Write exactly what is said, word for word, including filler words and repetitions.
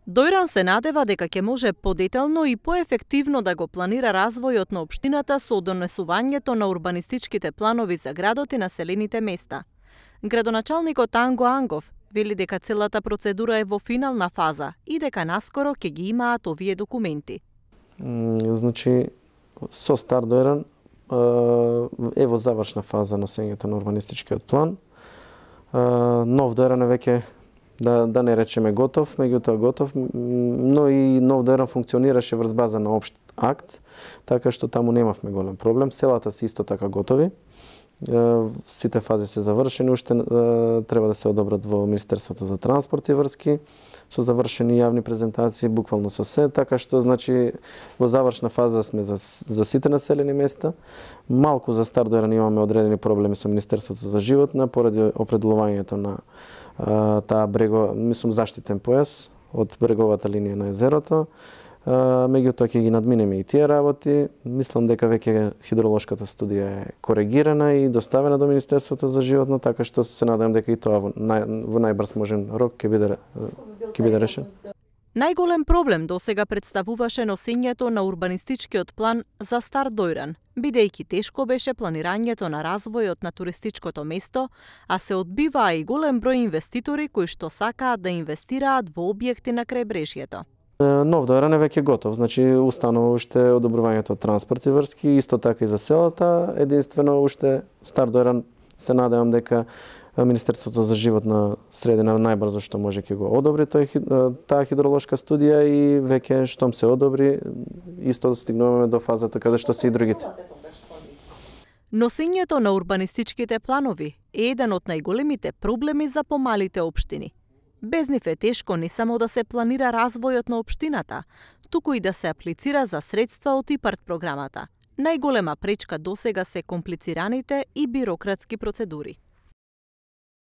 Дојран се надева дека ќе може подетелно и поефективно да го планира развојот на општината со донесувањето на урбанистичките планови за градот и населените места. Градоначалникот Анго Ангов вели дека целата процедура е во финална фаза и дека наскоро ќе ги имаат овие документи. Значи, со Стар Дојран е во завршна фаза носењето на урбанистичкиот план. Нов Дојран е веќе, да, да не речеме готов, меѓутоа готов, но и Нов Дојран функционираше врз база на општ акт, така што таму немавме голем проблем. Селата се исто така готови. Сите фази се завршени, уште треба да се одобрат во Министерството за транспорт и врски, со завршени јавни презентации, буквално со се, така што значи во завршна фаза сме за, за сите населени места. Малку за Стар Дојран имаме одредени проблеми со Министерството за животна поради определувањето на а, таа брего, мислам заштитен појас од бреговата линија на езерото. Меѓутоа ќе ги надминеме и тие работи. Мислам дека веќе хидролошката студија е коригирана и доставена до Министерството за животно, така што се надевам дека и тоа во, нај, во најбрз можен рок ќе биде ќе биде решен. Најголем проблем досега представуваше носењето на урбанистичкиот план за Стар Дојран, бидејќи тешко беше планирањето на развојот на туристичкото место, а се одбиваа и голем број инвеститори кои што сакаат да инвестираат во објекти на крајбрежјето. Нов Дојран е веќе готов, значи устанува уште одобрувањето од транспорт и врски, исто така и за селата, единствено уште Стар Дојран се надевам дека Министерството за животна средина најбрзо што може ќе го одобри тој, таа хидролошка студија и веќе штом се одобри, исто стигнуваме до фазата каде што се и другите. Носењето на урбанистичките планови е еден од најголемите проблеми за помалите општини. Без нив е тешко не само да се планира развојот на општината, туку и да се аплицира за средства од ИПАРД програмата. Најголема пречка досега се комплицираните и бирократски процедури.